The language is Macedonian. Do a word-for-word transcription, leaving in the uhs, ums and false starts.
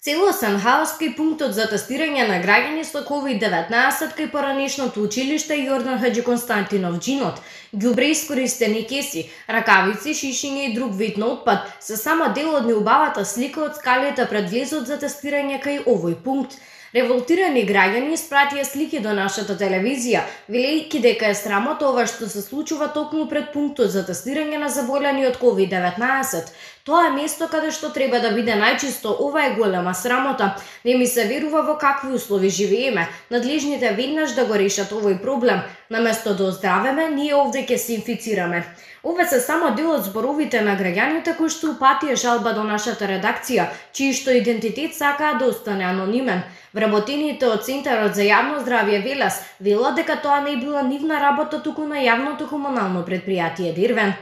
Целосен хаос кај пунктот за тестирање на граѓани со ковид деветнаесет кај поранешното училиште Јордан Хаџи Константинов Џинот, ѓубре искористени кеси, ракавици, шишиња и друг вид на отпад се само дел од неубавата слика од скалите пред влезот за тестирање кај овој пункт. Револтирани граѓани испратија слики до нашата телевизија, велејќи дека е срамота ова што се случува токму пред пунктот за тестирање на заболени од ковид деветнаесет. Тоа е место каде што треба да биде најчисто, ова е голема срамота. Не ми се верува во какви услови живееме. Надлежните веднаш да го решат овој проблем. Наместо да оздравеме, ние овде ќе се инфицираме. Ова се само дел од зборовите на граѓаните кои што упатија жалба до нашата редакција, чиј што идентитет сакаа да остане анонимен. Вработените од Центарот за јавно здравје Велес велат дека тоа не била нивна работа туку на јавното комунално претпријатие Дервен.